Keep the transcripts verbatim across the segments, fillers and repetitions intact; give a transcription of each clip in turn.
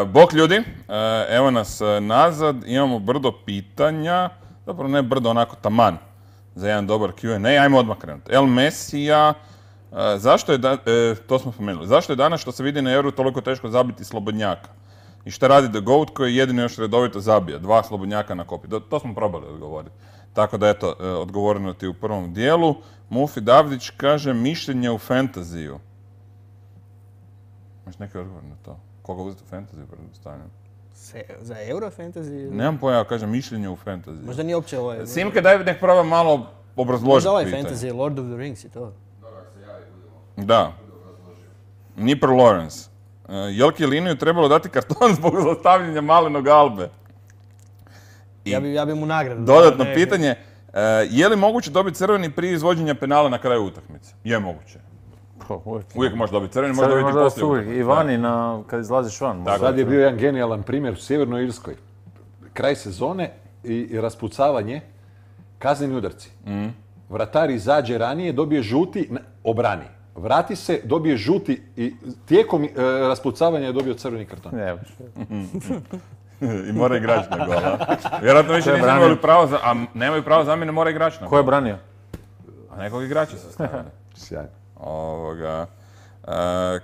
Bok ljudi, evo nas nazad, imamo brdo pitanja, zapravo ne brdo, onako taman za jedan dobar Q and A. Ajmo odmah krenuti. El Mesija, zašto je, da, e, to smo spomenuli, zašto je danas što se vidi na Euru toliko teško zabiti slobodnjaka? I šta radi The Goat koji jedino još redovito zabija? Dva slobodnjaka na kopi. To, to smo probali odgovoriti. Tako da eto, odgovoreno ti u prvom dijelu. Mufi Davdić kaže mišljenje u fantaziju. Imaš neki odgovor na to? Koga uzeti u fantaziju, predstavljam? Za Euro fantasy? Nemam pojava, kaže mišljenje u fantaziju. Možda nije uopće ovaj... Simke, daj nek proba malo obrazložiti možda ovaj pitanje. fantasy, Lord of the Rings i to. Da. Nipper Lawrence. Uh, Jelki Liniju trebalo dati karton zbog zlostavljanja malenog Albe. I ja bi, ja bi mu nagradu. Dodatno ne, pitanje, uh, je li moguće dobiti crveni prije izvođenja penala na kraju utakmice? Je moguće. Uvijek, uvijek možeš dobiti crveni, možeš dobiti poslije utakmice. I vani, na, kad izlaziš van. Sad je bio jedan genijalan primjer u Sjevernoj Irskoj. Kraj sezone i, i raspucavanje, kazneni udarci. Mm. Vratar izađe ranije, dobije žuti, obrani. Vrati se, dobije žuti i tijekom e, raspucavanja je dobio crveni karton. Ne, I mora igrač na gola. Vjerojatno više nisu imali pravo za... A nemaju pravo zamjene, mora igrač na gola. Ko je branio? A nekog igrača su stavili. Sjajno. Ovoga... Uh,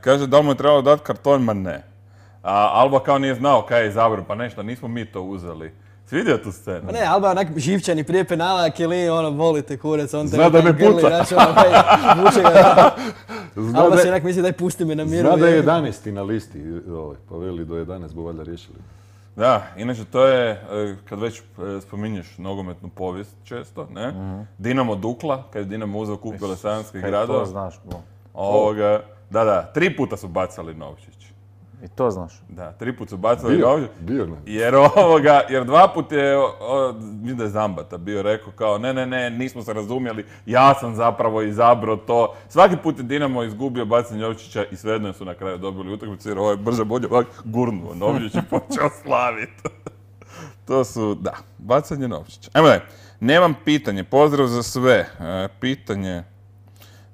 kaže da li mu je trebalo dati karton, ma ne. A Alba kao nije znao kaj je izabrao, pa nešto, nismo mi to uzeli. Si vidio tu scenu? Pa ne, Alba onak živčani prije penala, Kili, ono, volite kurec, on te... Zna da me puta. Znači, ono, kaj, vuče ga. Alba si onak misli daj pusti me na miru. Zna da je jedanaesti na listi, ovaj, pa veli do jedanaest bo valjda riješili. Da, inače to je, kad već spominješ nogometnu povijest često, ne? Mm-hmm. Dinamo Dukla, kad je Dinamo uzeo kup Belesajanskih gradova. To znaš, bo. Ovoga, da, da, tri puta su bacali novčić. I to znaš. Da, tri put su bacali bio, novčić. Bio, ne. Jer ovoga, jer dva put je, mislim da je Zambata bio rekao kao ne, ne, ne, nismo se razumjeli, ja sam zapravo izabrao to. Svaki put je Dinamo izgubio bacanje novčića i svejedno su na kraju dobili utakmicu jer ovo je brže bolje ovak gurnuo novčić i počeo slaviti. To su, da, bacanje novčića. Ajmo daj, nemam pitanje, pozdrav za sve. E, pitanje...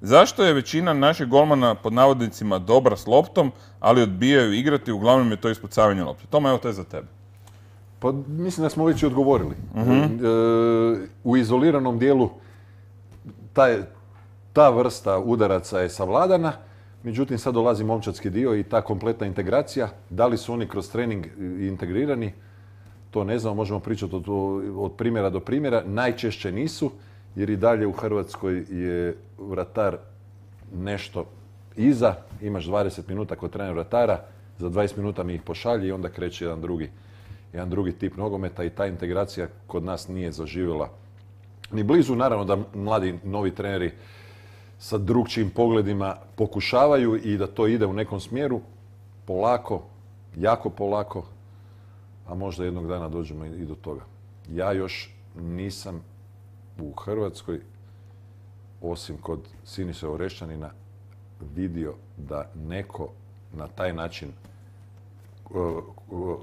Zašto je većina naših golmana pod navodnicima dobra s loptom, ali odbijaju igrati, uglavnom je to ispucavanje lopte? Toma, evo to je za tebe. Pa mislim da smo već i odgovorili. Uh-huh. E, u izoliranom dijelu taj, ta vrsta udaraca je savladana, međutim sad dolazi momčadski dio i ta kompletna integracija. Da li su oni kroz trening integrirani, to ne znamo, možemo pričati od, od primjera do primjera. Najčešće nisu. Jer i dalje u Hrvatskoj je vratar nešto iza, imaš dvadeset minuta kod trener vratara, za dvadeset minuta mi ih pošalje i onda kreće jedan drugi, jedan drugi tip nogometa i ta integracija kod nas nije zaživjela ni blizu. Naravno da mladi novi treneri sa drugčijim pogledima pokušavaju i da to ide u nekom smjeru, polako, jako polako, a možda jednog dana dođemo i do toga. Ja još nisam u Hrvatskoj, osim kod Siniše Orešćanina, vidio da neko na taj način uh, uh,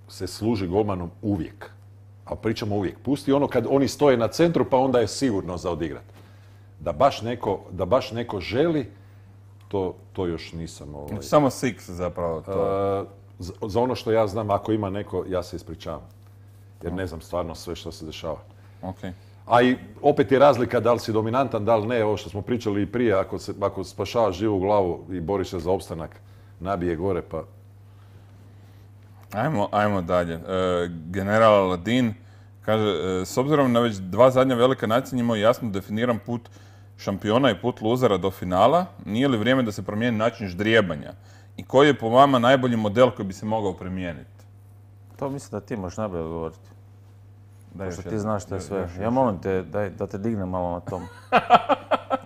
se služi golmanom uvijek. A pričamo uvijek. Pusti ono kad oni stoje na centru pa onda je sigurno za odigrat. Da baš neko, da baš neko želi, to, to još nisam... Ovaj, samo Six zapravo to. Uh, za, za ono što ja znam, ako ima neko, ja se ispričavam. Jer ne znam stvarno sve što se dešava. Okay. A i opet je razlika da li si dominantan, da li ne, ovo što smo pričali i prije, ako, se, ako spašavaš živu glavu i boriš se za opstanak, nabije gore, pa... Ajmo, ajmo dalje. E, General Aladin kaže, e, s obzirom na već dva zadnja velika natjecanja imao jasno definiran put šampiona i put luzera do finala, nije li vrijeme da se promijeni način ždrijebanja? I koji je po vama najbolji model koji bi se mogao primijeniti? To mislim da ti možeš najbolje odgovoriti. Daj što ti znaš što je sve. Ja molim te daj, da te dignem malo na tom.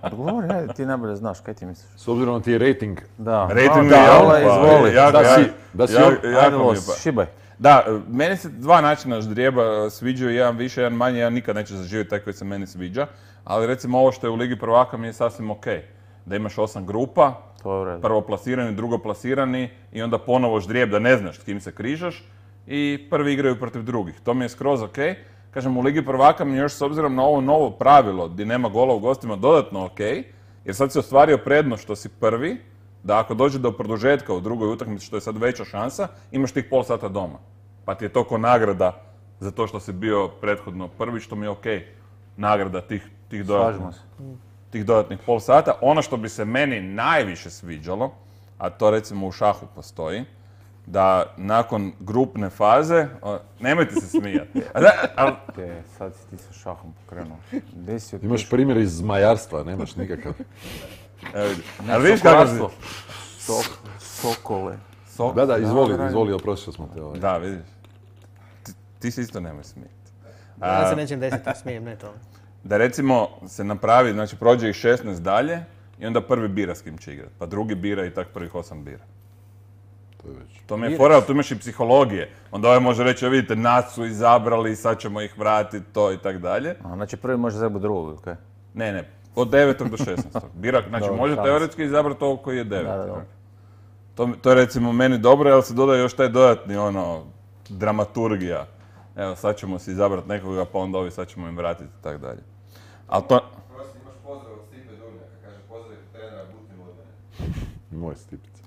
Odgovori, ajde, ti najbolje znaš, kaj ti misliš? S obzirom na ti je rating. Da, rating da, je izvoli. Da si, da si, ajde los, šibaj. Da, meni se dva načina ždrijeba sviđaju, jedan više, jedan manje, ja nikad neće zaživjeti taj koji se meni sviđa, ali recimo ovo što je u Ligi prvaka mi je sasvim ok. Da imaš osam grupa, prvoplasirani, drugoplasirani i onda ponovo ždrijeb da ne znaš s kim se križaš i prvi igraju protiv drugih. To mi je skroz ok. Kažem, u Ligi prvaka mi još s obzirom na ovo novo pravilo gdje nema gola u gostima dodatno ok, jer sad si ostvario prednost što si prvi, da ako dođe do produžetka u drugoj utakmici, što je sad veća šansa, imaš tih pol sata doma. Pa ti je to ko nagrada za to što si bio prethodno prvi, što mi je okej. Nagrada tih, tih, dodatnih, tih dodatnih pol sata. Ono što bi se meni najviše sviđalo, a to recimo u šahu postoji, da nakon grupne faze, o, nemojte se smijati. A da, al, Te, sad si ti sa šahom pokrenuo. Gdje si otišao? Imaš primjer iz zmajarstva, nemaš nikakav. evo vidi. Ali vidiš kako si... Sokolarstvo. Sok, sokole. So- Da, da, izvoli, Dobro. izvoli, oprostio smo te ovaj. Da, vidiš. Ti, ti se isto nemoj smijeti. Ja se nećem desiti, smijem, ne to. Da recimo se napravi, znači prođe ih šesnaest dalje i onda prvi bira s kim će igrati, pa drugi bira i tak prvih osam bira. To je već. To mi je fora, ali tu imaš i psihologije. Onda ovaj može reći, vidite, nas su izabrali, sad ćemo ih vratiti, to i tak dalje. A, znači prvi može zabrati drugog, okej? Ne, ne, od devetog do šesnaestog. Bira, znači Dobro, može šans. teoretski izabrati ovog koji je deveti. Da, da, da. To, to je recimo meni dobro, jer se dodaje još taj dodatni, ono, dramaturgija. Evo, sad ćemo si izabrati nekoga, pa onda ovi sad ćemo im vratiti i tak dalje. Ali to... Prosti, imaš pozdrav od Stipe Durnjaka, kaže pozdrav trenera Butin Vodene. Moj Stipica.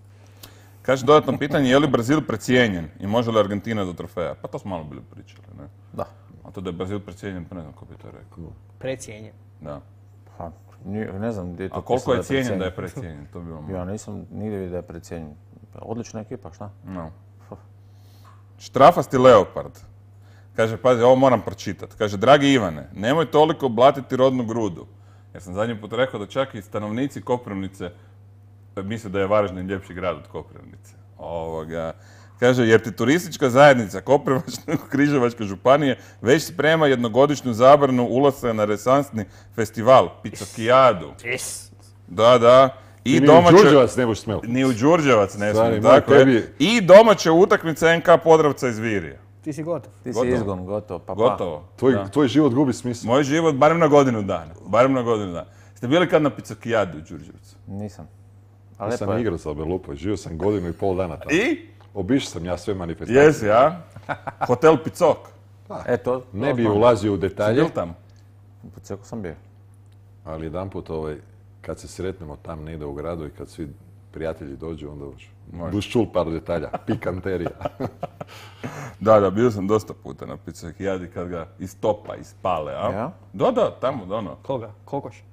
Kaže dodatno pitanje, je li Brazil precijenjen i može li Argentina do trofeja? Pa to smo malo bili pričali, ne? Da. A to da je Brazil precijenjen, pa ne znam ko bi to rekao. Precijenjen. Da. Pa, nije- ne znam gdje je to A koliko pisalo je cijenjen da precijenjen. je precijenjen? To bi vam... Ja nisam nigdje vidio da je precijenjen. Pa, odlična ekipa, šta? No. Štrafasti leopard. Kaže, pazi, ovo moram pročitati. Kaže, dragi Ivane, nemoj toliko blatiti rodnu grudu. Jer sam zadnji put rekao da čak i stanovnici Koprivnice misle da je Varaždin ljepši grad od Koprivnice. Ovoga. Kaže, jer ti turistička zajednica Koprivničko-križevačke županije već sprema jednogodišnju zabranu ulaska na renesansni festival, Picokijadu. Yes. Da, da. I I ni domaće... u Đurđevac ne možeš smjeti. Ni u Đurđevac ne Stari smijem, moj, tako je. tebi- I domaća utakmica en ka Podravca iz Virija. Ti si gotov. Ti si Gotovo. izgon, gotovo, pa pa. Gotovo. Tvoj, Da. tvoj život gubi smisla. Moj život, barem na godinu dana. Barem na godinu dana. Ste bili kad na Picokijadu u Đurđevcu? Nisam. A Ja lepo sam je. igrao sa Belupoj, živio sam godinu i pol dana tamo. I? Obišao sam ja sve manifestacije. Jesi, a? Hotel Picok. E, to... Ne to bi znam. ulazio u Si detalje, bil tamo? Po cijeku sam bio. ali jedanput ovaj, kad se sretnemo tam negdje u gradu i kad svi prijatelji dođu, onda už Može. buš čul par detalja, pikanterija. Da, da, bio sam dosta puta na Picokijadi kad ga istopa, ispale, a? Ja? Da, da, tamo, da, ono. Koga? Kokoš?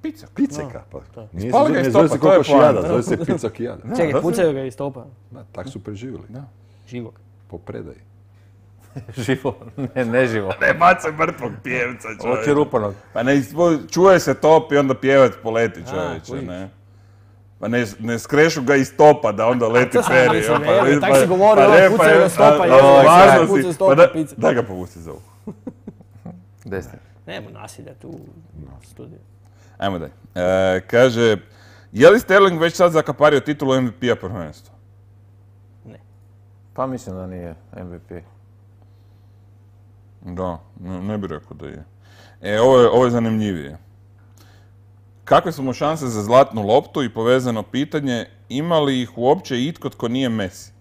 Picok. Piceka, pa. Nije Ispali se, ga ne iz zove topa, se to je kokošijada, poanta. zove se picokijada. Čekaj, da se- pucaju ga iz topa. Da, tak su preživjeli. Da. Živog. Po predaji. Živo. Ne, ne živo. Ne bacaj mrtvog pjevca, čovječe. Oči rupanog. Pa ne, ispo- čuje se top i onda pjevac poleti, A, čovječe, kužiš. ne? Pa ne, ne skrešu ga iz topa da onda leti to sam peri. mislio, pa- evo, pa- tak si govorio, pa ovo ne, pucaju pa- ga s topa, a- jezo, a- sad važno pucaju si. s topa, Pa da- pice. Daj ga povuci za uho. Desni. Nema nasilja tu u studiju. Ajmo dalje. E, kaže, je li Sterling već sad zakapario titulu em ve pe-a prvenstva? Ne. Pa mislim da nije em ve pe. Da, ne, ne bih rekao da je. E, ovo je, ovo je zanimljivije. Kakve su mu šanse za zlatnu loptu i povezano pitanje, ima li ih uopće itko tko nije Messi?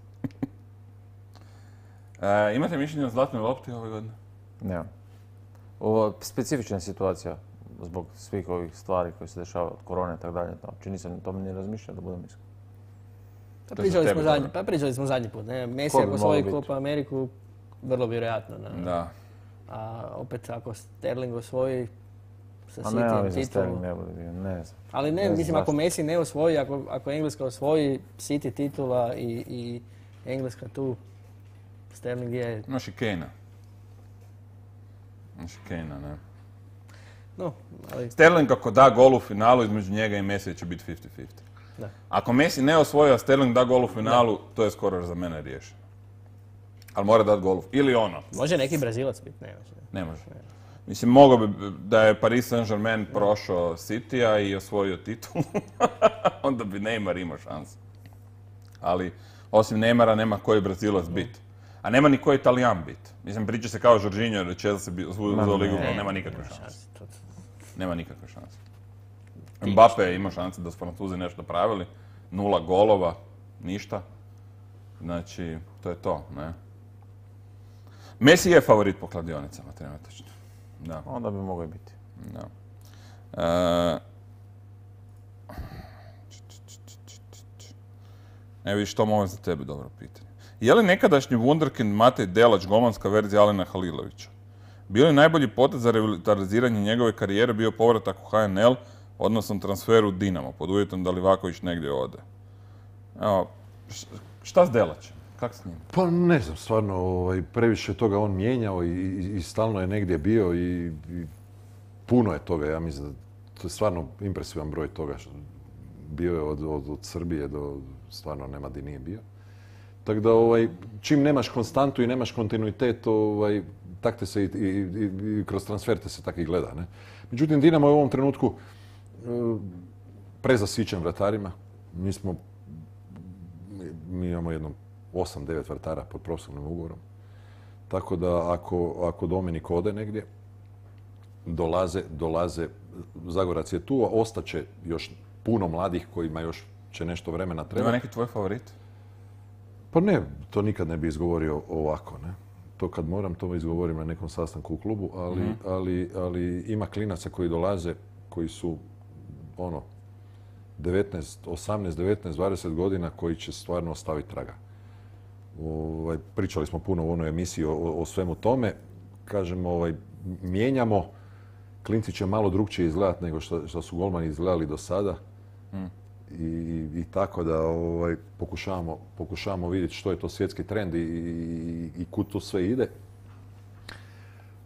e, imate mišljenje o zlatnoj lopti ove godine? Nemam. Ovo specifična situacija zbog svih ovih stvari koje se dešavaju od korone i tako dalje. Znači nisam o tome ni razmišljao da budem iskren. Pa To je za pričali, tebe smo zadnji, dobro. pa pričali smo zadnji put. Ne? Messi Ko bi ako mogao osvoji biti? Copa Ameriku, vrlo vjerojatno. Na, Da. A opet ako Sterling osvoji sa A ne, ali Cityjem za titulu. Sterling ne bude bio, ne znam. Ali ne, Ne znam mislim ako zašto. Messi ne osvoji, ako, ako Engleska osvoji City titula i, i Engleska tu, Sterling je, Imaš i Kane-a. Imaš i Kane-a, ne. no, ali Sterling ako da gol u finalu, između njega i Messi će biti fifty fifty. da. Ako Messi ne osvoji, a Sterling da gol u finalu, to je skoro za mene riješeno. Ali mora dati gol u... Ili ono. Može neki Brazilac biti, ne može. Ne može. Mislim, mogao bi da je Paris Saint-Germain prošao City-a i osvojio titulu, onda bi Neymar imao šansu. Ali, osim Neymara, nema koji Brazilac bit. A nema ni koji Italijan bit. Mislim, priča se kao Jorginho jer Chelsea bi uzeo ligu, ali nema nikakve šanse. To- Nema nikakve šanse. Mbappe je imao šanse da su Francuzi nešto napravili. Nula golova, ništa. Znači, to je to, ne? Messi je favorit po kladionicama, trenutačno. Da, Onda bi mogao i biti. da. E, Ne vidiš, to ovo je za tebe dobro pitanje. Je li nekadašnji wunderkind Matej Delač golmanska verzija Alena Halilovića? Bio li najbolji potez za revitaliziranje njegove karijere bio povratak u H N L, odnosno transfer u Dinamo, pod uvjetom da Livaković negdje ode? Evo, šta s Delačem? Kak s njim? Pa ne znam, stvarno, ovaj, previše toga on mijenjao i, i, i stalno je negdje bio i, i puno je toga, ja mislim da to je stvarno impresivan broj toga. Što bio je od, od, od Srbije do, stvarno nema di nije bio. Tako da, ovaj, čim nemaš konstantu i nemaš kontinuitet, ovaj, tak te se i, i, i, i kroz transfer te se tak i gleda. Ne? Međutim, Dinamo je u ovom trenutku uh, prezasićen vratarima. Mi smo, mi imamo jedno osam devet vratara pod profesionalnim ugovorom. Tako da ako, ako Dominik ode negdje, dolaze, dolaze, Zagorac je tu, a ostaće još puno mladih kojima još će nešto vremena treba. Ima neki tvoj favorit? Pa ne, to nikad ne bi izgovorio ovako, ne. To kad moram, to izgovorim na nekom sastanku u klubu, ali, mm. ali, ali ima klinaca koji dolaze, koji su ono, devetnaest, osamnaest, devetnaest, dvadeset godina koji će stvarno ostaviti traga. Ovaj, pričali smo puno u onoj emisiji o, o svemu tome. Kažem, ovaj, mijenjamo, klinci će malo drugčije izgledati nego što, što su golmani izgledali do sada. Mm. I, i tako da ovaj, pokušavamo, pokušavamo vidjeti što je to svjetski trend i, i, i kud to sve ide.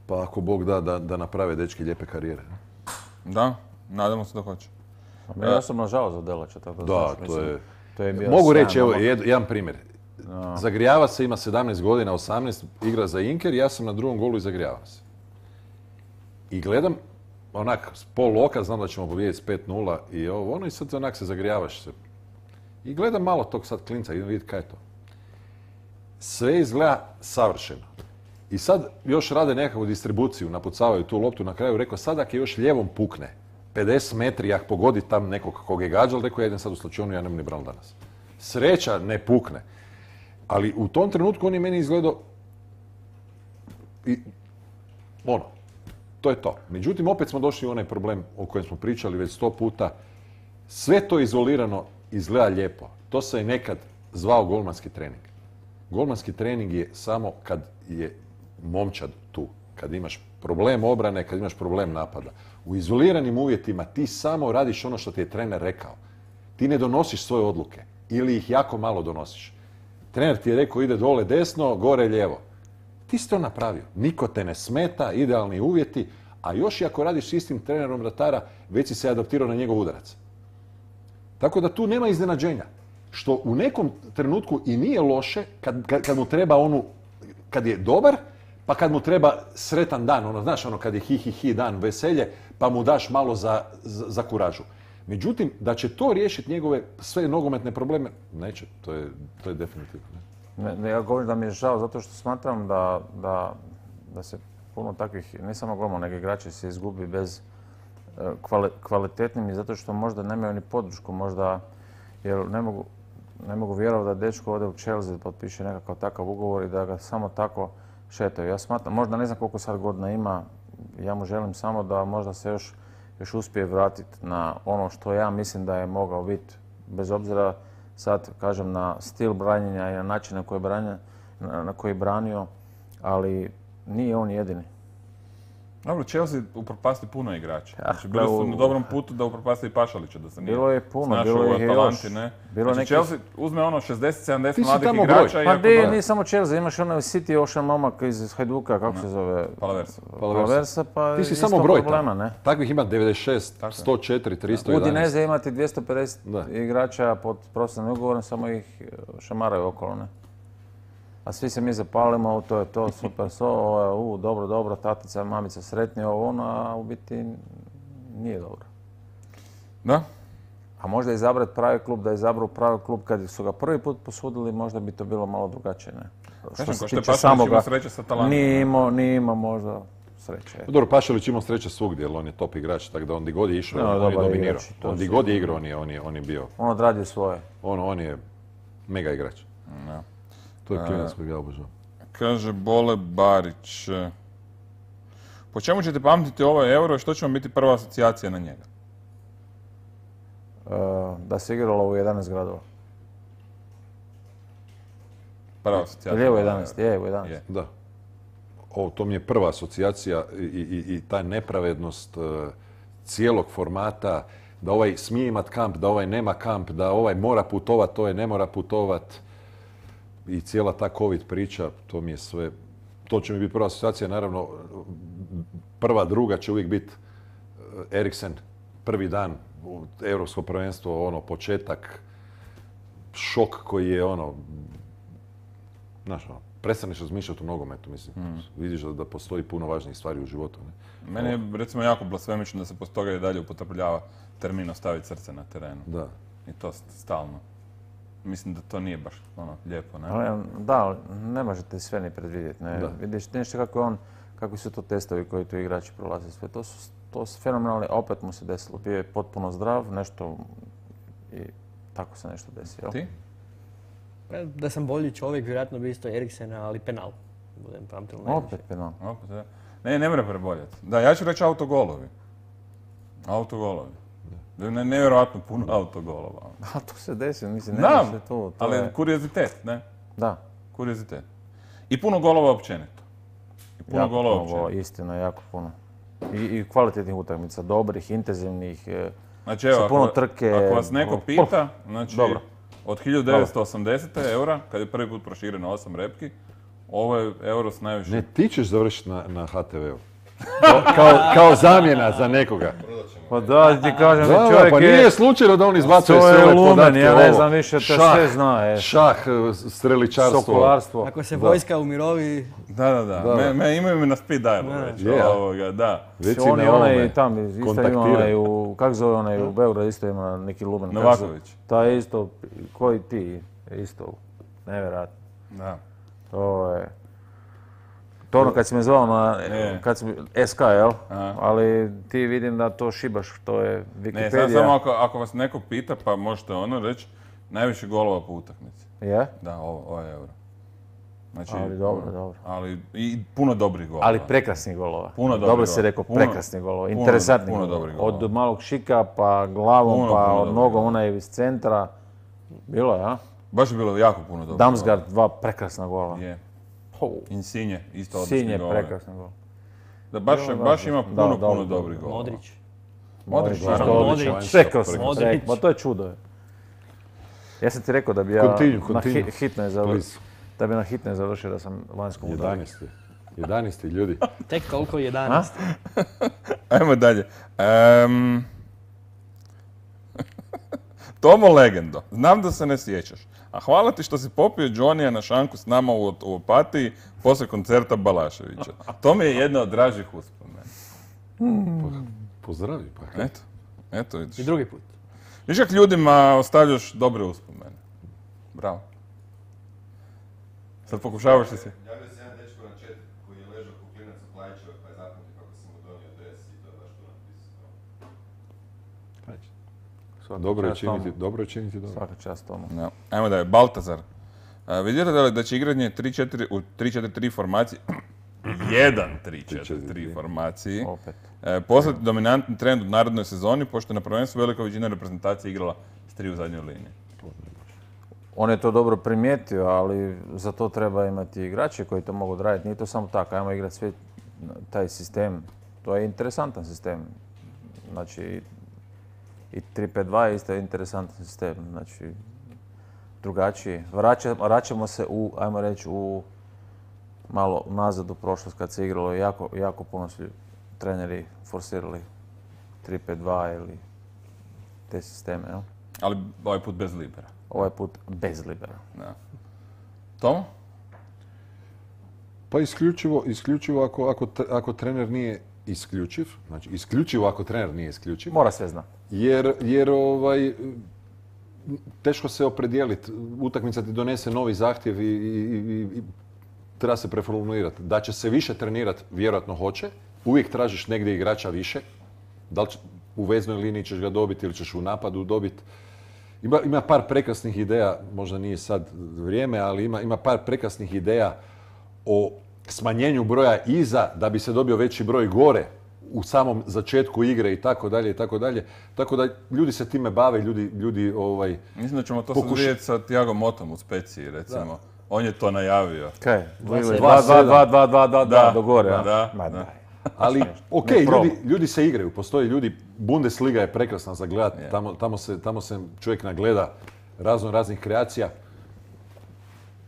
Pa ako Bog da, da, da naprave dečki lijepe karijere. Da, nadamo se da hoće. Ja sam nažao za Delača, tako da, da znaš, to, mislim, je... to je bio Mogu reći, san, evo, ono... jed, jedan primjer. No. Zagrijava se, ima sedamnaest godina, osamnaest, igra za Inker, ja sam na drugom golu i zagrijavam se. I gledam, onak, s pol oka, znam da ćemo pobijediti s pet nula i ovo, ono, i sad onak se zagrijavaš se. I gledam malo tog sad klinca, idem vidjeti kaj je to. Sve izgleda savršeno. I sad još rade nekakvu distribuciju, napucavaju tu loptu, na kraju rekao, sad ako je još lijevom pukne, pedeset metri, ako pogodi tam nekog kog je gađal, rekao, ja idem sad u slačionu, ja nemam ni bral danas. Sreća ne pukne. Ali u tom trenutku on je meni izgledao i ono, to je to. Međutim, opet smo došli u onaj problem o kojem smo pričali već sto puta. Sve to izolirano izgleda lijepo. To se je nekad zvao golmanski trening. Golmanski trening je samo kad je momčad tu. Kad imaš problem obrane, kad imaš problem napada. U izoliranim uvjetima ti samo radiš ono što ti je trener rekao. Ti ne donosiš svoje odluke ili ih jako malo donosiš. Trener ti je rekao ide dole desno, gore lijevo. Ti si to napravio. Niko te ne smeta, idealni uvjeti, a još i ako radiš s istim trenerom vratara, već si se adaptirao na njegov udarac. Tako da tu nema iznenađenja. Što u nekom trenutku i nije loše kad, kad, kad mu treba onu, kad je dobar, pa kad mu treba sretan dan, ono, znaš, ono kad je hi hi hi dan, veselje, pa mu daš malo za, za, za kuražu. Međutim, da će to riješiti njegove sve nogometne probleme, neće, to je, to je definitivno. Ne, ne, ja govorim da mi je žao zato što smatram da, da, da se puno takvih, ne samo golmana, nego igrači se izgubi bez kvali, kvalitetnim i zato što možda nemaju ni podršku, možda, jer ne mogu, ne mogu vjerovati da dečko ode u Chelsea, potpiše nekakav takav ugovor i da ga samo tako šetaju. Ja smatram, možda ne znam koliko sad godina ima, ja mu želim samo da možda se još, još uspije vratiti na ono što ja mislim da je mogao biti, bez obzira sad, kažem, na stil branjenja i na način na koji je branio, na koji je branio, ali nije on jedini. Dobro, Chelsea upropasti puno igrača. Ja, Znači, bili su na dobrom putu da upropasti i Pašalića, da se nije bilo je puno, snašao bilo u je Atalanti, još. ne? Bilo Znači, nekih... Chelsea uzme ono šezdeset sedamdeset mladih tamo igrača broj. i... Pa ako gdje, da- nije samo Chelsea, imaš onaj City Ocean momak iz Hajduka, kako se zove? Palaversa. Palaversa, pa Ti si isto samo broj problema, tamo. ne? Takvih ima devedeset šest, sto četiri, tristo jedanaest. Udineze imati dvjesto pedeset Da. igrača pod profesionalnim ugovorom, samo ih šamaraju okolo, ne? A svi se mi zapalimo, to je to, super, so, ovo je, u, dobro, dobro, tatica, mamica, sretni, ovo ono, a u biti nije dobro. Da? A možda izabrati pravi klub, da izabru pravi klub kad su ga prvi put posudili, možda bi to bilo malo drugačije, ne? Kažem, ko što je Pašalić imao sreće sa Atalantom. Nije imao, nije imao možda sreće. Dobro, Pašalić imao sreće svugdje, jer on je top igrač, tako da on di god je išao, No, on je dobar dominirao. igrač, to On di sigurno. god je igrao, on je, on je, on je bio, On odradio svoje. on, on je mega igrač. Da. To je klinac kojeg ja obožavam. Kaže Bole Barić. Po čemu ćete pamtiti ovaj euro i što će vam biti prva asocijacija na njega? Uh, da se igralo u jedanaest gradova. Prva asocijacija. Ili je u jedanaest, je u jedanaest. Je. Da. O, to mi je prva asocijacija i, i, i ta nepravednost uh, cijelog formata, da ovaj smije imat kamp, da ovaj nema kamp, da ovaj mora putovat, ovaj ne mora putovat. I cijela ta covid priča, to mi je sve, to će mi biti prva asocijacija, naravno prva, druga će uvijek biti Eriksen, prvi dan, Europsko prvenstvo, ono, početak, šok koji je ono, znaš, ono, prestaneš razmišljati o nogometu, mislim, mm. vidiš da, da postoji puno važnijih stvari u životu. Ne? Meni je, recimo, jako blasfemično da se posto toga i dalje upotrebljava termin ostaviti srce na terenu. Da. I to stalno. Mislim da to nije baš ono lijepo, ne? Ali, da, ali ne možete sve ni predvidjeti. Ne? Da. Vidiš nešto kako je on, kakvi su to testovi koji tu igrači prolaze sve. To su, to su fenomenalni, a opet mu se desilo. Bio je potpuno zdrav, nešto i tako se nešto desi. Jel? Ti? Da sam bolji čovjek, vjerojatno bi isto Eriksena, ali penal. Budem pamtilo najviše. Opet penal. Opet, da. Ne, ne mora preboljeti. Da, ja ću reći autogolovi. Autogolovi. Ne, nevjerojatno puno autogolova. A to se desi, mislim, ne Znam, može to. to ali je... kuriozitet, ne? Da. Kuriozitet. I puno golova općenito. I puno jako golova puno općenito. golova, istina, jako puno. I, i kvalitetnih utakmica, dobrih, intenzivnih, e, Znači, evo, sa puno ako, trke. ako vas neko ono, pita, znači, Dobro. od hiljadu devetsto osamdesete eura, kad je prvi put prošireno osam repki, ovo je euro s najviše. Ne, ti ćeš završiti na, na ha te veu. Kao, kao, kao zamjena za nekoga. Pa da, ti kažem, Da, da, čovjek pa je... nije slučajno da on izbacuje To sve je ove lumen, podatke. ja ne ovo. znam više, to Šah, sve zna, e. Šah, streličarstvo. Sokolarstvo. Ako se Da. vojska umirovi, Da, da, da. Da. Me, me imaju me na speed dialu Da. već. Je. Ovoga, da. Reci On me je onaj ovome, tam, isto ima kontaktiram. onaj u, kak zove onaj u Beogradu, isto ima neki lumen. kak se- Novaković. Taj isto, koji ti, isto, nevjerojatno. Da. To je... To ono kad si me zvao na, Ne. kad si, es ka, jel? Aha. Ali ti vidim da to šibaš, to je Ne, Wikipedija. sad samo ako, ako vas neko pita, pa možete ono reći, najviše golova po utakmici. Je? Da, ovo, ovo je euro. Znači, Ali dobro, ovo- dobro. Ali i puno dobrih golova. Ali prekrasnih golova. Puno dobrih Dobro si golova. rekao, Puno- prekrasnih golova. puno- Interesantnih puno golova. dobrih golova. Od malog šika, pa glavom, Puno, pa puno od dobrih nogom, golova. onaj iz centra. Bilo je, a? Baš je bilo jako puno dobrih Damsgaard, dva prekrasna gola. golova. Je. Ho, Insigne, isto odlični Sinje, golove. prekrasna gola. Da, baš, Da, da, baš da. ima Da, puno, da, puno da. dobrih golova. Modrić. Modrić, Isto naravno. odličan. Modrić. Rekao sam, Modrić. rekao, pa to je čudo. Je. Ja sam ti rekao da bi ja Continue, na continue. hi- hitnoj završio, Please. da bi na hitnoj završio da sam vanjskom udaru. jedanaesti. jedanaesti ljudi. Tek toliko jedanaest. Ajmo dalje. Em, Tomo Legendo, znam da se ne sjećaš, a hvala ti što si popio Johnnyja na šanku s nama u, u Opatiji poslije koncerta Balaševića. To mi je jedna od dražih uspomena. Pozdravi pa. Eto, eto vidiš. I drugi put. Viš kak ljudima ostavljaš dobre uspomene. Bravo. Sad pokušavaš li se... Javio se jedan dečko na chat koji je ležao ko klinac u Klaićevoj pa je zapamtio kako sam mu donio dres i to je baš to napisao. Dobro je čast činiti, tomu. dobro je činiti dobro. Svaka čast tomu. No. Ajmo dalje, Baltazar. A, vidite li da će igranje tri četiri u tri četiri tri formaciji, jedan tri četiri tri formaciji, Opet. e, postati dominantni trend u narednoj sezoni, pošto je na prvenstvu velika većina reprezentacije igrala s tri u zadnjoj liniji. On je to dobro primijetio, ali za to treba imati igrače koji to mogu odraditi. Nije to samo tako, ajmo igrati sve taj sistem. To je interesantan sistem. Znači, i tri pet dva je isto interesantan sistem. Znači, drugačiji. Vraća- Vraćamo se u, ajmo reći, u malo nazad u prošlost kad se igralo. Jako, jako puno su treneri forsirali tri pet dva ili te sisteme. Jel? Ali ovaj put bez libera. Ovaj put bez libera. Da. Tomo? Pa isključivo, isključivo ako, ako, tre- ako trener nije isključiv, znači isključivo ako trener nije isključiv, Mora sve znati. jer, jer ovaj, teško se opredijeliti. Utakmica ti donese novi zahtjev i, i, i, i treba se preformulirati. Da će se više trenirati, vjerojatno hoće. Uvijek tražiš negdje igrača više. Da li će- u veznoj liniji ćeš ga dobiti ili ćeš u napadu dobiti. Ima, ima par prekrasnih ideja, možda nije sad vrijeme, ali ima, ima par prekrasnih ideja o smanjenju broja iza da bi se dobio veći broj gore u samom začetku igre i tako dalje i tako dalje. Tako da ljudi se time bave, ljudi, ljudi ovaj, Mislim da ćemo to Pokuš- sad vidjeti sa Thiago Motom u Speciji, recimo. On je to najavio. Kaj? Dva, dva, dva, dva, dva, dva, dva, dva, Da, do gore, a? da, Ma da. daj. Ali, ok, Ne probu. ljudi, ljudi se igraju, postoje ljudi, Bundesliga je prekrasna za gledat, Je. tamo, tamo, se, tamo se čovjek nagleda razno raznih kreacija.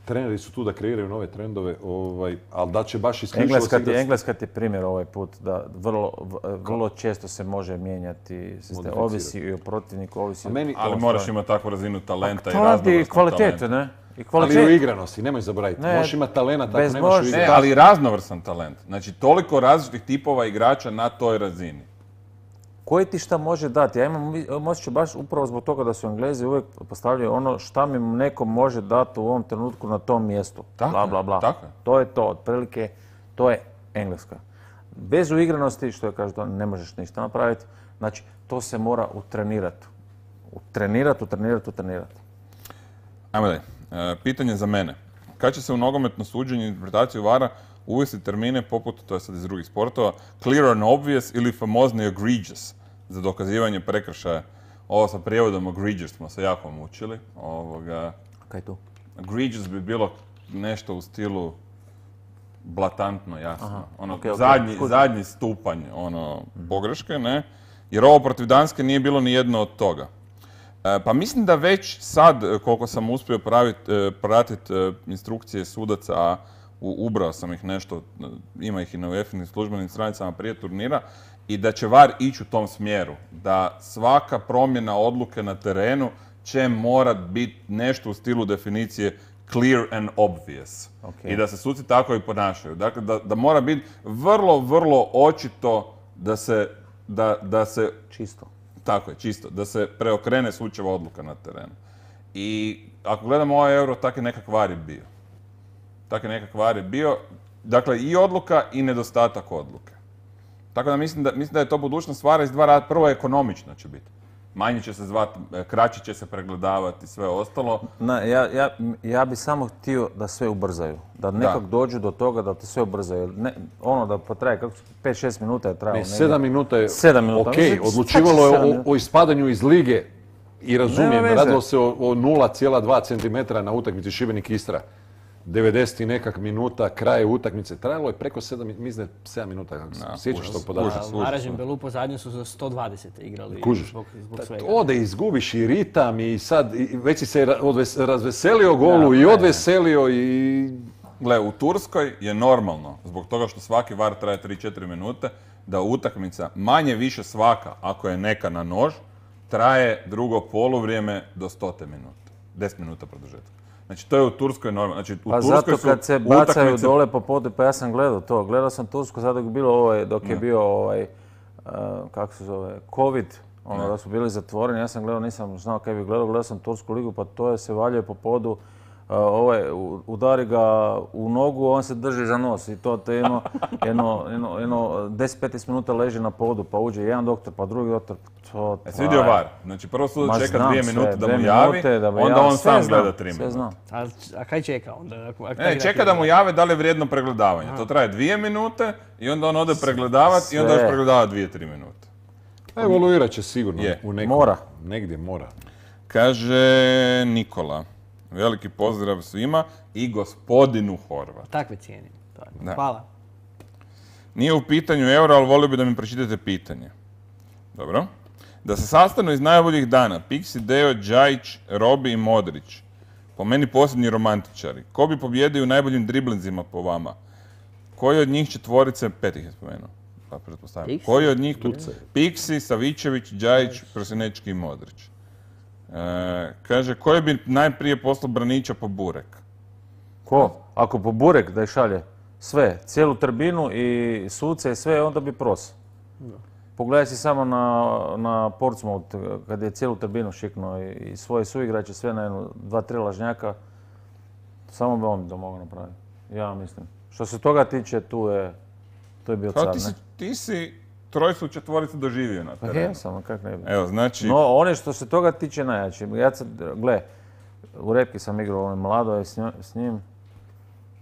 Treneri su tu da kreiraju nove trendove, ovaj, ali da će baš isključivo Engleska se ti, igrat- Engleska ti je primjer ovaj put da vrlo, v- vrlo često se može mijenjati sistem. Modificirati. Ovisi i o protivniku, ovisi A o... meni- Ali moraš imati takvu razinu talenta i Talent i raznovrsnog kvalitete, talenta. ne? I Ali i u kvalitet. igranosti, nemoj zaboraviti. Ne, Možeš imati talenta ako bez nemaš u možda. Ne, igranosti. ali raznovrsan talent. Znači, toliko različitih tipova igrača na toj razini. Koji ti šta može dati? Ja imam imam osjećaj baš upravo zbog toga da su Englezi uvijek postavljaju ono šta mi neko može dati u ovom trenutku na tom mjestu. Tako bla, je, bla, bla. tako je. To je to, otprilike, to je Engleska. Bez uigranosti, što je kaže, to ne možeš ništa napraviti. Znači, to se mora utrenirati. Utrenirati, utrenirati, utrenirati. Ajmo dalje. E, pitanje za mene. Kad će se u nogometno suđenje i interpretaciju vara uvesti termine poput, to je sad iz drugih sportova, clear and obvious ili famozni egregious za dokazivanje prekršaja? Ovo sa prijevodom egregious smo se jako mučili. Ovoga, Kaj tu? egregious bi bilo nešto u stilu blatantno, jasno. Ono, okej, okej, zadnji, kužim. zadnji stupanj ono, pogreške, ne? Jer ovo protiv Danske nije bilo ni jedno od toga. E, pa mislim da već sad, e, koliko sam uspio pratiti instrukcije sudaca, a u- ubrao sam ih nešto, e, ima ih i na U E F-inim službenim stranicama prije turnira, i da će V A R ići u tom smjeru. Da svaka promjena odluke na terenu će morat biti nešto u stilu definicije clear and obvious. Ok. I da se suci tako i ponašaju. Dakle, da, da mora biti vrlo, vrlo očito da se, da, da se Čisto. tako je, čisto. Da se preokrene sučeva odluka na terenu. I ako gledamo ovaj euro, tak je nekak var je bio. Tak je nekak var je bio. Dakle, i odluka i nedostatak odluke. Tako da mislim da, mislim da je to budućnost stvara iz dva rada. Prvo, ekonomično će biti. Manje će se zvati, kraće će se pregledavati i sve ostalo. Na, ja, ja, ja bi samo htio da sve ubrzaju. Da nekak dođu do toga da to sve ubrzaju. Ne, ono da potraje, kako pet šest minuta je trajalo. Ne, negdje. sedam minuta je Sedam minuta. ok, Znači, odlučivalo šta će je sedam o, minuta? o ispadanju iz lige i razumijem, Nema veze. radilo se o, o nula zarez dva centimetra na utakmici Šibenik-Istra. devedeset i nekak minuta, kraj utakmice. Trajalo je preko sedam, mislim da je sedam minuta, kako se Da, sjećaš užas, tog podatka. užas. Varaždin Belupo zadnju su za sto dvadeset igrali Kužiš. zbog, zbog svega. Ode, izgubiš i ritam i sad, i već si se ra- odves- razveselio golu i odveselio i... Gle, u Turskoj je normalno, zbog toga što svaki var traje tri četiri minute, da utakmica manje više svaka, ako je neka na nož, traje drugo poluvrijeme do stote minuta. deset minuta produžetka. Znači, to je u Turskoj normalno. Znači, u Pa Turskoj zato su kad se bacaju utakmice- dole po podu, pa ja sam gledao to. Gledao sam Tursku sad dok je bilo ovaj, dok je bio ovaj, uh, kako se zove, COVID, ono da su bili zatvoreni, ja sam gledao, nisam znao kaj bi gledao, gledao sam Tursku ligu, pa to je se valjuje po podu, uh, ovaj, u- udari ga u nogu, on se drži za nos i to te jedno, jedno, jedno, jedno deset petnaest minuta leži na podu, pa uđe jedan doktor, pa drugi doktor, to E, si vidio var? Znači, prvo su Ma čeka znam dvije sve, minute da dvije mu javi, minute da mu onda javi, on sve sam znam, gleda tri sve minute. znam. A, a kaj čeka onda? Ako, ako Ne, čeka da mu jave da li je vrijedno pregledavanje. To traje dvije minute i onda on ode pregledavati i onda još Sve. pregledava dvije, tri minute. Evoluirat će sigurno Je. u nekom. Mora. Negdje mora. Kaže Nikola, veliki pozdrav svima i gospodinu Horvat. Takve cijenim. To je. Da. Hvala. Nije u pitanju euro, ali volio bi da mi pročitate pitanje. Dobro. Da se sastanu iz najboljih dana Pixi, Deo, Džajić, Robi i Modrić. Po meni posljednji romantičari. Ko bi pobjedio u najboljim driblinzima po vama? Koji od njih četvorice, pet ih je spomenuo, pa pretpostavljam. Pixi? Koji od njih tu? Pixi, Savičević, Džajić, Prosinečki i Modrić. E, kaže, koji bi najprije poslao Branića po burek? Ko? Ako po burek da ih šalje sve, cijelu tribinu i suce i sve, onda bi pros. Pogledaj si samo na, na Portsmouth, kad je cijelu tribinu šiknuo i, i svoje suigrače, sve na jednu, dva, tri lažnjaka, samo bi on to mogao napraviti. Ja mislim. Što se toga tiče, tu je, tu je bio Kao car, ti si, ne? ti si trojstvu četvoricu doživio na Pa terenu. jesam, a kak ne bi. Evo, znači, No, oni što se toga tiče najjači. Ja sad, gle, u Repki sam igrao, on je mlado je s, njo- s njim.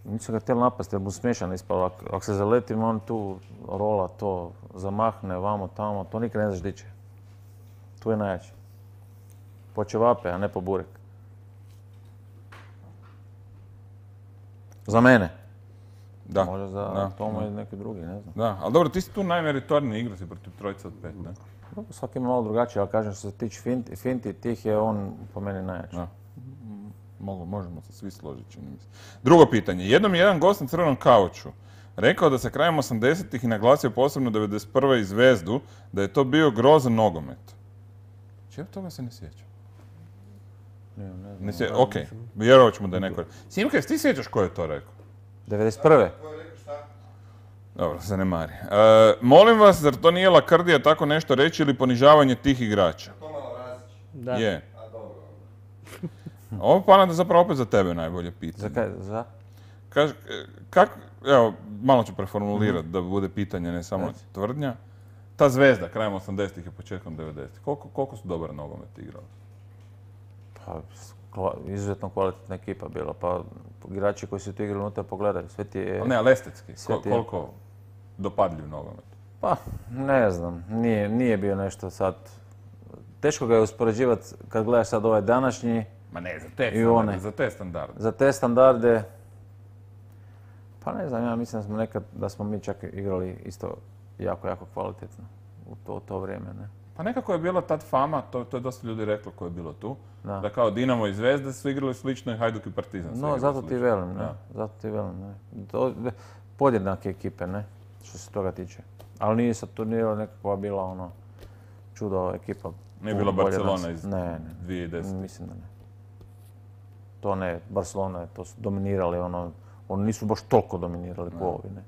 Nisu ga htjeli napasti jer mu smiješan ispalo. Ako, ako se zaletim, on tu rola to, zamahne, vamo, tamo, to nikad ne znaš di će. Tu je najjači. Po ćevape, a ne po burek. Za mene. Da. Možda za da, Tomo da. i neki drugi, ne znam. Da, ali dobro, ti si tu najmeritorniji igra si protiv trojica od pet, ne? Dobro, svaki ima malo drugačije, ali kažem što se tiče finti, finti, tih je on po meni najjači. Da. Mogu, možemo se svi složiti, čini mi se. Drugo pitanje. Jednom je jedan gost na crvenom kauču rekao da se krajem osamdesetih i naglasio posebno devedeset prve i Zvezdu, da je to bio grozan nogomet. Čega toga se ne sjeća? Ne, ne znam. Ne sje... Ok, vjerovat ćemo da je neko... Simka, jesi ti sjećaš ko je to rekao? devedeset prve. Ko je rekao šta? Dobro, se ne mari. E, molim vas, zar to nije lakrdija tako nešto reći ili ponižavanje tih igrača? To malo Razić. Da. Je. A dobro. Ovo pa da zapravo opet za tebe najbolje pitanje. Za kaj, za? Kaž, kak, evo, malo ću preformulirati da bude pitanje, ne samo tvrdnja. Ta Zvezda, krajem osamdesetih i početkom devedesetih, koliko, koliko su dobar nogomet igrali? Pa, kva- izuzetno kvalitetna ekipa bila, pa igrači koji su tu igrali unutra pogledaj, sve ti je... Ali ne, ali estetski, Sve Ko- ti je- koliko dopadljiv nogomet? Pa, ne znam, nije, nije bio nešto sad... Teško ga je uspoređivati kad gledaš sad ovaj današnji, Ma ne, za te I standarde, one. za te standarde. za te standarde... Pa ne znam, ja mislim da smo nekad, da smo mi čak igrali isto jako, jako kvalitetno u to, u to vrijeme, ne? Pa nekako je bila tad fama, to, to je dosta ljudi reklo ko je bilo tu, Da. da kao Dinamo i Zvezda su igrali slično i Hajduk i Partizan su No, igrali zato ti slično. velim, ne? Da. Zato ti velim, ne? To, podjednake ekipe, ne? Što se toga tiče. Ali nije sad turnirala nekakva bila ono čudo ekipa. Nije puno bila bolje od Barcelona nas. iz Ne, ne. dvije tisuće desete. Mislim da ne. To ne, Barcelona je, to su dominirali, ono, oni nisu baš toliko dominirali ko ovi, ne.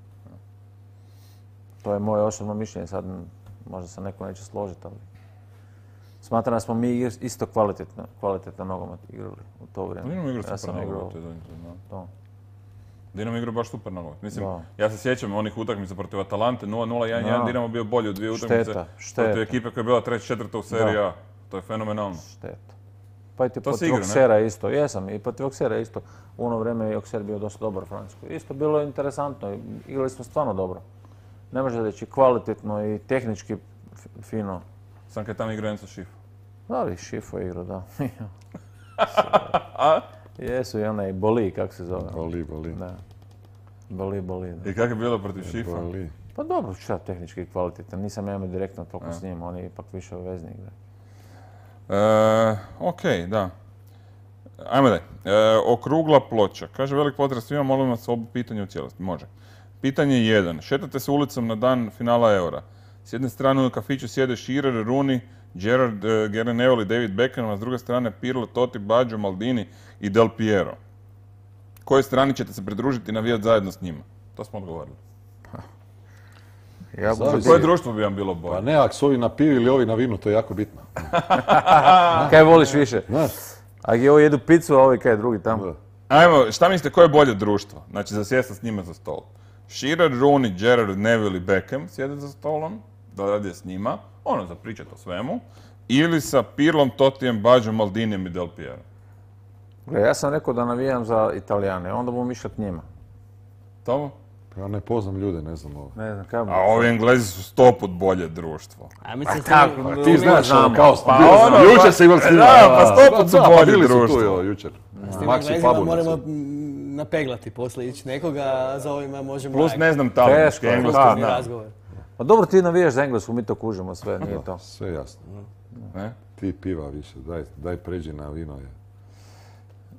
To je moje osobno mišljenje, sad m, možda se neko neće složiti, ali smatram da smo mi igr- isto kvalitetno, kvalitetno nogomet igrali u to vrijeme. Dinamo igra Ja super sam igrao nogomet. to je donekle, da. to. Dinamo igra baš super nogomet. Mislim, Da. ja se sjećam onih utakmica protiv Atalante, nula nula jedan jedan, Da. Dinamo bio bolji u dvije utakmice. Šteta, Protiv šteta. ekipe koja je bila treća, četvrta u seriji A. To je fenomenalno. Šteta. Pa i ti To si protiv igrao, ne? Auxerra isto, jesam, i protiv Auxerra isto. U ono vrijeme je Auxerre bio dosta dobar u Francuskoj. Isto bilo je interesantno, igrali smo stvarno dobro. Ne može reći kvalitetno i tehnički f- fino. Sam kad tamo igrao Enzo Šifo. Da li Šifo je igrao, da. Jesu i onaj Boli, kako se zove. Boli, boli. Da. Boli, Boli. Da. I kako je bilo protiv Šifa? Boli. Pa dobro, šta tehnički kvalitetan. Nisam ja imao direktno toliko s njim, on je ipak više vezni igra. E, ok, da. Ajmo dalje. E, okrugla ploča. Kaže velik pozdrav svima, molim vas obu pitanje u cijelosti. Može. Pitanje jedan. Šetate se ulicom na dan finala Eura. S jedne strane u kafiću sjede Shearer, Rooney, Gerrard, e, Gary Neville i David Beckham, a s druge strane Pirlo, Totti, Baggio, Maldini i Del Piero. Kojoj strani ćete se pridružiti i navijati zajedno s njima? To smo odgovorili. Ja Zavisi. Koje društvo bi vam bilo Pa bolje? ne, ako su ovi na pivi ili ovi na vinu, to je jako bitno. Kaj voliš više? Znaš? Ako je ovi jedu picu, a ovi kaj je drugi tamo. Da. Ajmo, šta mislite, koje je bolje društvo? Znači, za sjesta s njima za stol. Shearer, Rooney, Gerrard, Neville i Beckham sjede za stolom, da radi s njima, ono, za pričat o svemu. Ili sa Pirlom, Tottijem, Baggiom, Maldinijem i Del Piero. Gle, ja sam rekao da navijam za Italijane, onda bom išao k njima. Tomo? Pa ja ne poznam ljude, ne znam ovo. Ne znam, kaj bi... A ovi Englezi su sto put bolje društvo. A mislim tako, mi- ti mi- Znaš, znamo. ono, kao Pa bio sam- ono, jučer pa- se imali s njima. da, pa sto put su Da, pa bolje bili su tu društvo. jo, jučer. S tim Maxi Englezima Pabu. moramo mm, napeglati poslije, ići nekoga, a za ovima možemo... Plus lagati. ne znam talijanski, Teško, engleski da, znam. razgovor. Pa dobro, ti navijaš za Englesku, mi to kužimo sve, nije to. Sve jasno. Ne? Ti piva više, daj, daj pređi na vino. Je.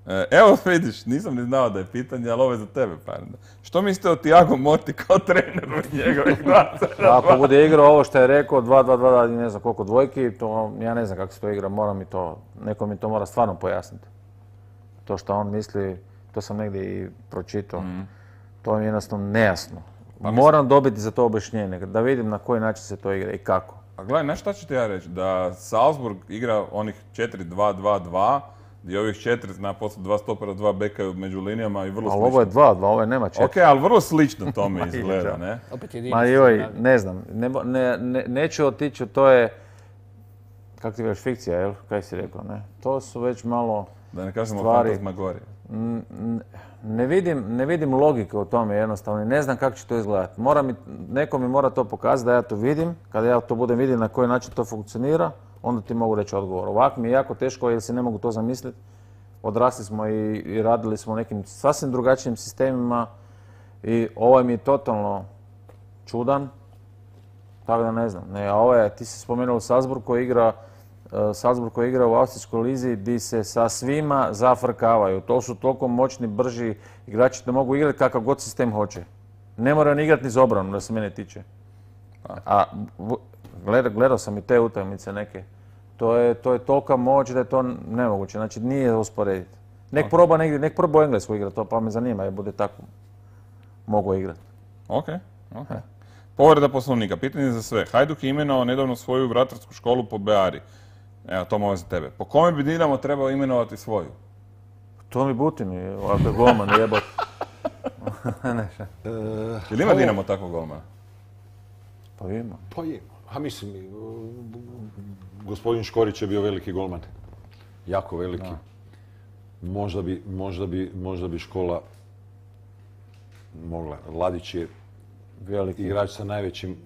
E, Evo vidiš, nisam ni znao da je pitanje, ali ovo je za tebe, Parenda. Što mislite o Thiago Motti kao treneru njegovih dva? Ako bude igrao ovo što je rekao, dva dva dva, ne znam koliko dvojki, to ja ne znam kako se to igra, mora mi to, neko mi to mora stvarno pojasniti. To što on misli, to sam negdje i pročitao, to mi je jednostavno nejasno. Moram dobiti za to objašnjenje, da vidim na koji način se to igra i kako. A gledaj, znaš šta ću ti ja reći? Da Salzburg igra onih četiri dva dva dva, gdje ovih četiri zna poslije dva stopera, dva beka među linijama i vrlo Ali slično. ovo je dva dva, ovo je nema četiri. Ok, ali vrlo slično tome izgleda, ne? Opet jedini Ma se joj, navi- ne znam, ne, mo- ne, ne, neću otići, to je, kako ti već fikcija, jel? Kaj si rekao, ne? To su već malo, Da ne kažemo Stvari. fantasmagorije. n- n- ne vidim, ne vidim logike u tome jednostavno i ne znam kako će to izgledati. Mora mi, neko mi mora to pokazati da ja to vidim, kada ja to budem vidim na koji način to funkcionira, onda ti mogu reći odgovor. Ovako mi je jako teško jer si ne mogu to zamisliti, odrasli smo i, i radili smo u nekim sasvim drugačijim sistemima i ovaj mi je totalno čudan, tako da ne znam. Ne, a ovo je, ti si spomenuo Salzburg koji igra, uh, Salzburg koji igra u Austrijskoj lizi gdje se sa svima zafrkavaju. To su toliko moćni, brži igrači da mogu igrati kakav god sistem hoće. Ne moraju ni igrati ni za obranu, da se mene tiče. A gledao, gledao sam i te utakmice neke. To je, to je tolika moć da je to nemoguće, znači nije usporediti. Nek proba negdje, nek proba u Englesku igrati, to pa me zanima, jer bude tako mogu igrati. Ok, ok. Povreda poslovnika, pitanje za sve. Hajduk je imenovao nedavno svoju vratarsku školu po Beari. Evo, to može za tebe. Po kome bi Dinamo trebao imenovati svoju? To mi Butin, ako je golman, jebot. Ili ima Dinamo takvog golmana? Pa ima. Pa je. A mislim, gospodin Škorić je bio veliki golman. Jako veliki. Možda bi, možda bi, možda bi škola mogla. Ladić je veliki igrač sa najvećim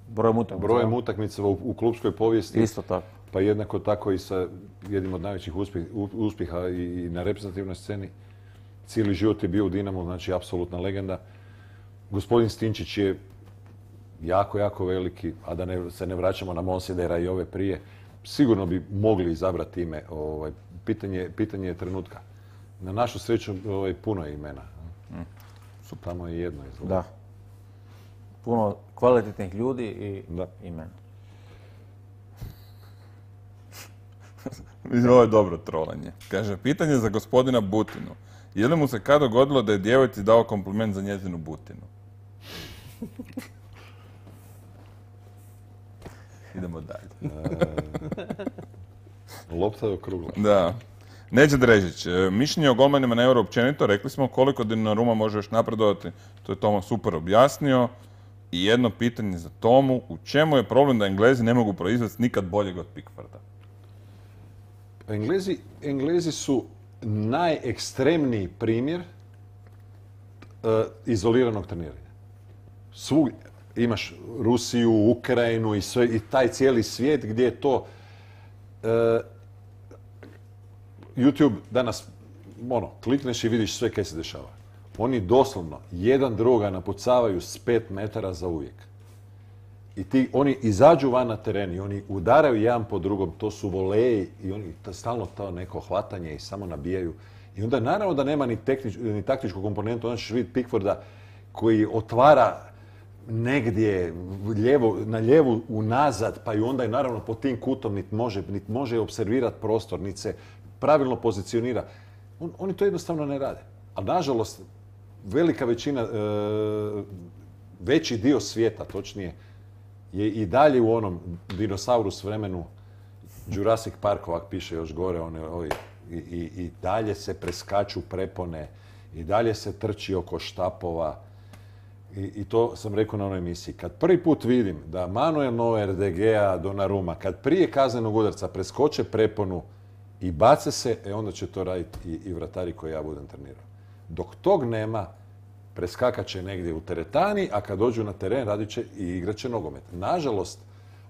brojem utakmica, brojem utakmica u, u klubskoj povijesti. Isto tako. Pa jednako tako i sa jednim od najvećih uspjeh, uspjeha i, i na reprezentativnoj sceni. Cijeli život je bio u Dinamu, znači apsolutna legenda. Gospodin Stinčić je jako, jako veliki, a da ne, se ne vraćamo na Monsidera i ove prije, sigurno bi mogli izabrati ime. Ovaj, pitanje, pitanje je trenutka. Na našu sreću ovaj, puno je imena. Mm. Su tamo i jedno izgleda. Da. Puno kvalitetnih ljudi i da. imena. Ovo je dobro trolanje. Kaže, pitanje za gospodina Butinu. Je li mu se kad dogodilo da je djevojci dao kompliment za njezinu Butinu? Idemo dalje. E, lopta je okrugla. Da. Neđe Drežić, mišljenje o golmanima na Euro općenito, rekli smo koliko Donnarumma može još napredovati, to je Toma super objasnio. I jedno pitanje za Tomu, u čemu je problem da Englezi ne mogu proizvesti nikad boljeg od Pickforda? Englezi, Englezi su najekstremniji primjer uh, izoliranog treniranja. Svugdje. Imaš Rusiju, Ukrajinu i, sve, i taj cijeli svijet gdje je to... Uh, YouTube danas, ono, klikneš i vidiš sve kaj se dešava. Oni doslovno jedan druga napucavaju s pet metara za uvijek. I ti, oni izađu van na teren i oni udaraju jedan po drugom, to su voleji i oni to, stalno to neko hvatanje i samo nabijaju. I onda naravno da nema ni, tehnič, ni taktičku komponentu, onda ćeš vidjeti Pickforda koji otvara negdje lijevo, na lijevu unazad, pa i onda je naravno po tim kutom niti može, nit može observirati prostor, niti se pravilno pozicionira. On, oni to jednostavno ne rade. A nažalost, velika većina, e, veći dio svijeta, točnije, je i dalje u onom dinosaurus vremenu, Jurassic Park ovak piše još gore, one, ovi, i, i, i dalje se preskaču prepone, i dalje se trči oko štapova. I, i to sam rekao na onoj emisiji. Kad prvi put vidim da Manuel Neuer, De Gea, Donnarumma, kad prije kaznenog udarca preskoče preponu i bace se, e onda će to raditi i, i vratari koji ja budem trenirao. Dok tog nema, preskakat će negdje u teretani, a kad dođu na teren radit će i igrat će nogomet. Nažalost,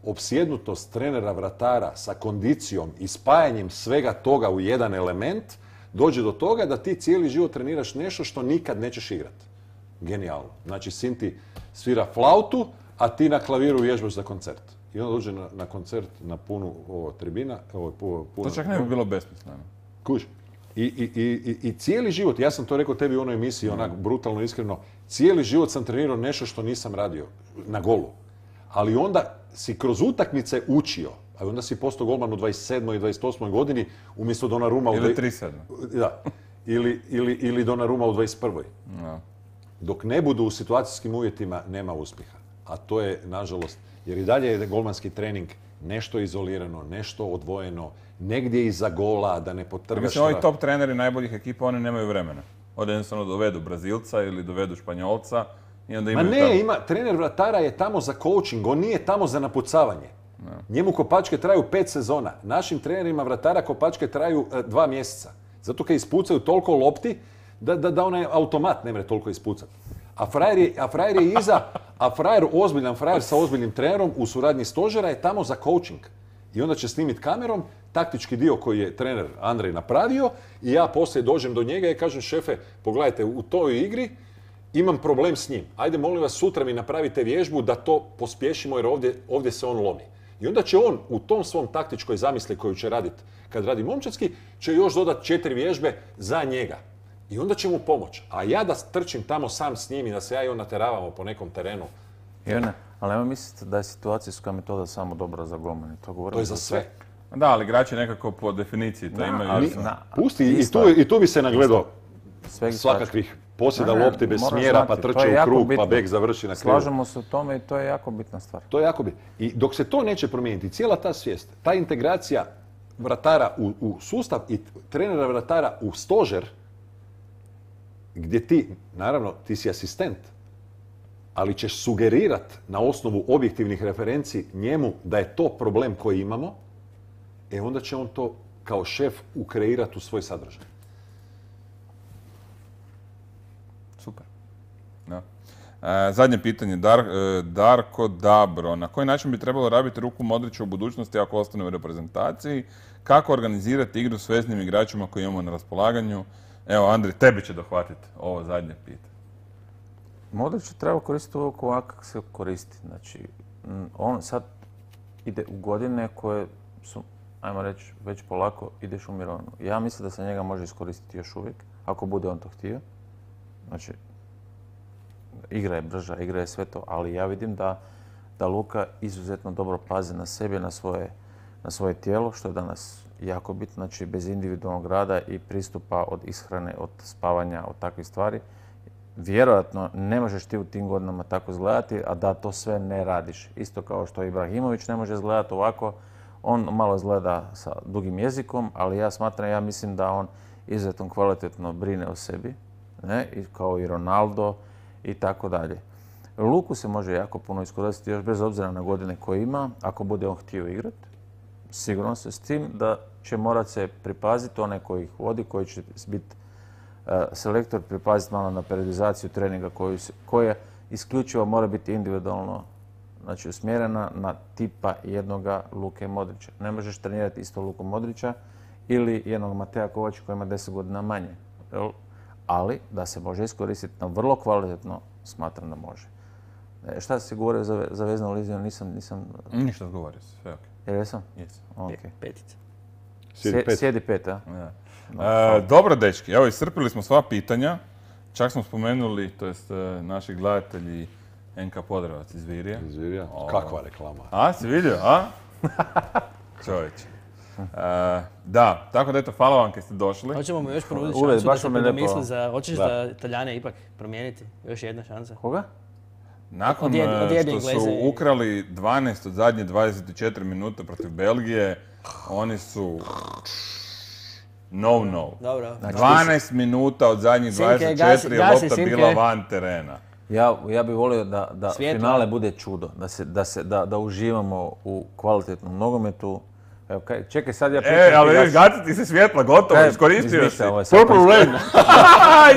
opsjednutost trenera vratara sa kondicijom i spajanjem svega toga u jedan element dođe do toga da ti cijeli život treniraš nešto što nikad nećeš igrati. Genijalno. Znači, sin ti svira flautu, a ti na klaviru vježbaš za koncert. I onda dođe na, na koncert na punu ovo, tribina. Ovo, puno, to čak ne bi bilo besmisleno. Kuži. I, i, i, I cijeli život, ja sam to rekao tebi u onoj emisiji, mm. onak brutalno iskreno, cijeli život sam trenirao nešto što nisam radio na golu. Ali onda si kroz utakmice učio, a onda si postao golman u dvadeset sedmoj i dvadeset osmoj godini umjesto Donnarumma u... Ili trideset sedmoj. Da. Ili, ili, ili Donnarumma u dvadeset prvoj. No. Dok ne budu u situacijskim uvjetima, nema uspjeha. A to je, nažalost, jer i dalje je golmanski trening nešto izolirano, nešto odvojeno, negdje iza gola, da ne potrgaš... Mislim, ovi top treneri najboljih ekipa, oni nemaju vremena. Onda jednostavno dovedu Brazilca ili dovedu Španjolca i onda imaju... Ma ne, tamo... ima, trener vratara je tamo za coaching, on nije tamo za napucavanje. No. Njemu kopačke traju pet sezona. Našim trenerima vratara kopačke traju e, dva mjeseca. Zato kad ispucaju toliko lopti, da, da, da onaj automat ne mre toliko ispucati. A frajer je, a frajer je iza, a frajer, ozbiljan frajer sa ozbiljnim trenerom u suradnji stožera je tamo za coaching. I onda će snimiti kamerom, taktički dio koji je trener Andrej napravio i ja poslije dođem do njega i kažem šefe, pogledajte, u toj igri imam problem s njim. Ajde, molim vas, sutra mi napravite vježbu da to pospješimo jer ovdje, ovdje se on lomi. I onda će on u tom svom taktičkoj zamisli koju će raditi kad radi momčadski, će još dodati četiri vježbe za njega. I onda će mu pomoći. A ja da trčim tamo sam s njim i da se ja i on nateravamo po nekom terenu. I ona, ali nema misliti da je situacijska metoda samo dobra za golmane. To, To je za sve. Da, ali igrači nekako po definiciji to Da, imaju. ali- isto. na- Pusti, i isto tu, je. i tu bi se nagledao Sveg svakakvih posjeda Ne, ne, lopte bez moraš smjera, pa znati, to je trče u jako krug, pa bitno. bek završi na krivu. Slažemo se u tome i to je jako bitna stvar. To je jako bitno. I dok se to neće promijeniti, cijela ta svijest, ta integracija vratara u, u sustav i trenera vratara u stožer, gdje ti, naravno, ti si asistent, ali ćeš sugerirat na osnovu objektivnih referenci njemu da je to problem koji imamo, e onda će on to kao šef ukreirati u svoj sadržaj. Super. Da. E, zadnje pitanje, Dar, e, Darko Dabro. Na koji način bi trebalo rabiti ruku Modrića u budućnosti ako ostane u reprezentaciji? Kako organizirati igru s veznim igračima koji imamo na raspolaganju? Evo, Andri, tebi će dohvatiti ovo zadnje pitanje. Modrić treba koristiti uvijek ovako kako se koristi. Znači, m, on sad ide u godine koje su, ajmo reći, već polako ideš u mirovinu. Ja mislim da se njega može iskoristiti još uvijek, ako bude on to htio. Znači, igra je brža, igra je sve to, ali ja vidim da, da Luka izuzetno dobro pazi na sebe, na svoje, na svoje tijelo, što je danas jako bitno, znači bez individualnog rada i pristupa od ishrane, od spavanja, od takvih stvari. Vjerojatno ne možeš ti u tim godinama tako izgledati, a da to sve ne radiš. Isto kao što Ibrahimović ne može izgledati ovako, on malo izgleda sa dugim jezikom, ali ja smatram, ja mislim da on izuzetno kvalitetno brine o sebi, ne? I kao i Ronaldo i tako dalje. Luku se može jako puno iskoristiti još bez obzira na godine koje ima, ako bude on htio igrati. Sigurno se s tim da će morat se pripaziti onaj koji ih vodi, koji će biti uh, selektor, pripaziti malo na periodizaciju treninga koju se, koja isključivo mora biti individualno, znači usmjerena na tipa jednoga Luke Modrića. Ne možeš trenirati isto Luku Modrića ili jednog Mateja Kovača koji ima deset godina manje. Jel? Ali da se može iskoristiti na vrlo kvalitetno, smatram da može. E, šta si govorio za, za veznu liziju? Nisam, nisam... Ništa govorio se, sve ok. Jel jesam? Jes. Okay. Petica. Sjedi pet. Sjedi pet, a? Da. E, dobro, dečki, evo iscrpili smo sva pitanja. Čak smo spomenuli, to jest e, naši gledatelji N K Podrevac iz Virija. Izvirija. O. Kakva reklama. A, si vidio, a? Čovječe. E, da, tako da eto, hvala vam kad ste došli. Hoćemo mu još ponuditi Ured, šansu da baš se vam je lijepo. predomisli za... Hoćeš Da. da Italijane ipak promijeniti? Još jedna šansa. Koga? Nakon Od jedne- od e, jedne što su Engleze i- ukrali dvanaest od zadnje dvadeset četiri minute protiv Belgije, oni su no no. Dobro. dvanaest minuta od zadnjih Simke, dvadeset četiri je gasi- gasi, lopta Simke. bila van terena. Ja, ja bih volio da, da Svjetlo. finale bude čudo, da, se, da, se, da, da uživamo u kvalitetnom nogometu. Evo, kaj, čekaj, sad ja pitam E, ali ti vidiš, gaš- gati ti se svjetla, gotovo, Kaj, iskoristio si. izmišlja ovo je sad Purple pristo- Rain!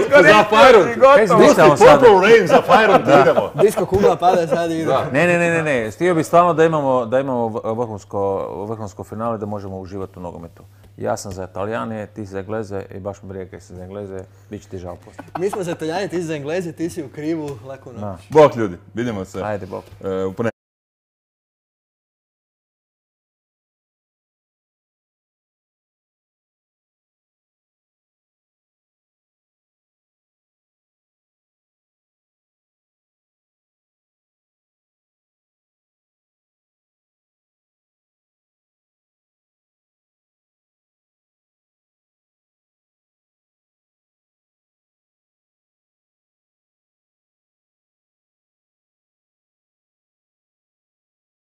Iskoristio si, gotovo. izmišljamo sad? Purple Rain, za Fajron ti idemo. Disko kugla pada sad i ide. Ne, ne, ne, ne, ne. Htio bih stvarno da imamo, da imamo vrhunsko, vrhunsko finale, da možemo uživati u nogometu. Ja sam za Italijane, ti si za Engleze i baš me briga kaj si za Engleze, bit će ti žao poslije. Mi smo za Italijane, ti si za Engleze, ti si u krivu, lako noć. Da. Bok ljudi, vidimo se Ajde, bok. e, u ponedjeljak.